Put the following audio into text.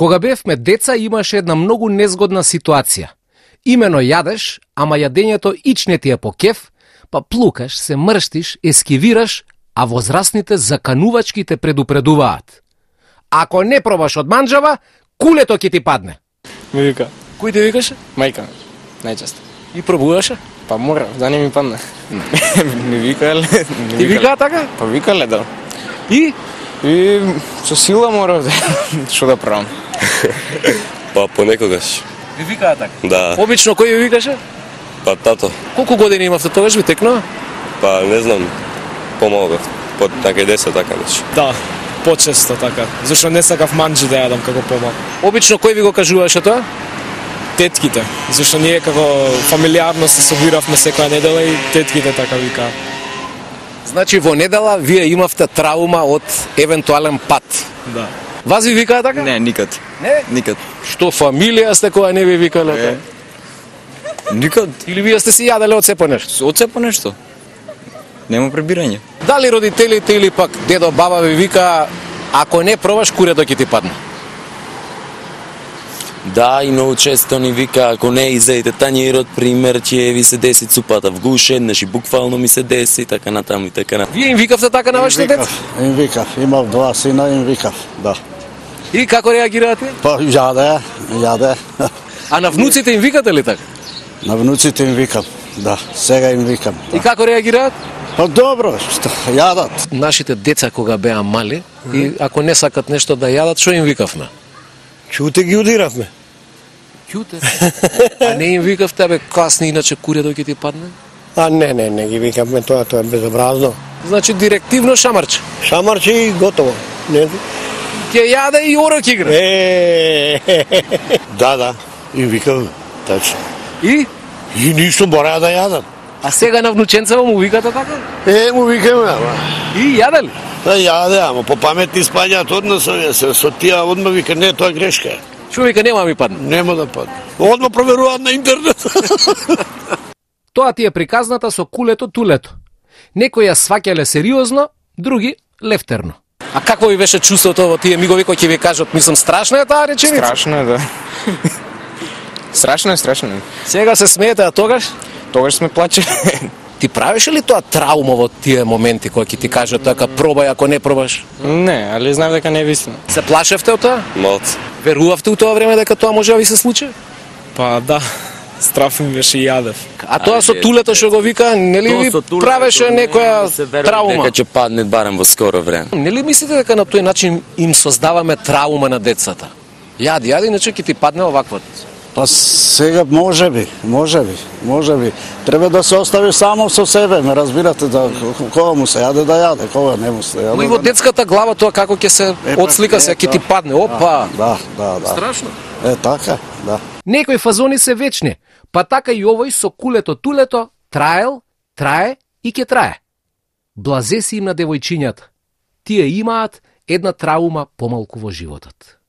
Кога бевме деца имаше една многу незгодна ситуација. Имено јадеш, ама јадењето ич не ти е по кеф, па плукаш, се мрштиш, ескивираш, а возрастните заканувачки те предупредуваат. Ако не пробаш од манџава, кулето ќе ти падне. Ми вика. Кој ти викаше? Мајка, најчесто. И пробуваше? Па мора, да не ми падне. Ми викале. Ти викаа така? Па викале, да. И со сила мора, што да правам. Па понекогаш. ви викаа така? Да. Обично кој ви викаше? Па тато. Колку години имавте тогаш ви текнува? Па не знам. Помалку. По така и 10 така нешто. Да, почесто така. Зашто не сакав манџи да јадам како помал. Обично кој ви го кажуваше тоа? Тетките, зашто ние како фамилиарно се собиравме секоја недела и тетките така викаа. Значи во недела вие имавте траума од евентуален пат. Да. Вас ви викаа така? Не, никад. Не? Никад. Што фамилија сте која не ви викале така? Никад. Или вие сте си јаделе од сепо нешто? Од сепо нешто. Нема пребирање. Дали родителите или пак дедо, баба ви вика ако не пробаш курето ќе ти падне? Да, и многу често ни вика, ако не изедете тањерот, пример, ќе ви се деси цупата в гуш, еднаш и буквално ми се деси, така натаму и така натаму. Вие им викавте така на вашите деца? Им викав, имав два сина, им викав, да. И како реагираат тие? Па јаде. А на внуците им викате ли така? На внуците им викам, да, сега им викам. И како реагираат? Па добро, што јадат. Нашите деца кога беа мали и ако не сакат нешто да јадат, што им викавме? Чуте ги удиравме. Ќуте. А не им викавте бе касни иначе курето ќе ти падне? А не ги викавме тоа е безобразно. Значи директивно шамарче. Шамарче и готово. Не. Ќе јаде и орок игра. Да, им викавме, тачно. И? И ништо мора да јадат. А сега на внученцево му викате така? Му викаме, ама. И јаде ли? Да јаде, ама по паметни спањаат однос, со тие одма вика, не, тоа е грешка. Што вика нема ми падне? Нема да падне. Одма проверуваат на интернет. Тоа ти е приказната со кулето тулето. Некои ја сваќале сериозно, други лефтерно. А какво ви беше чувството во тие мигови кои ќе ви кажат, мислам, страшна е таа реченица? Страшно е, да. Страшно е. Сега се смеете, а тогаш? Тогаш сме плачели. Ти правеше ли тоа траума во тие моменти кои ќе ти кажат така пробај ако не пробаш? Не, али знам дека не е вистина. Се плашевте од тоа? Малце. Верувавте у тоа време дека тоа може да ви се случи? Па да, страф ми беше и јадев. А тоа со тулето што го вика, нели ви правеше некоја траума? Дека ќе падне барем во скоро време. Нели мислите дека на тој начин им создаваме траума на децата? Јади, иначе ќе ти падне оваквото. Па сега може би. Треба да се остави само со себе, ме разбирате, да кога му се јаде да јаде, кога не му се јаде. Но и во детската глава тоа како ќе се отслика се, ќе ти падне, опа. Да. Страшно. Така, да. Некои фазони се вечни, па така и овој со кулето тулето трае и ќе трае. Блазе си им на девојчињата. Тие имаат една траума помалку во животот.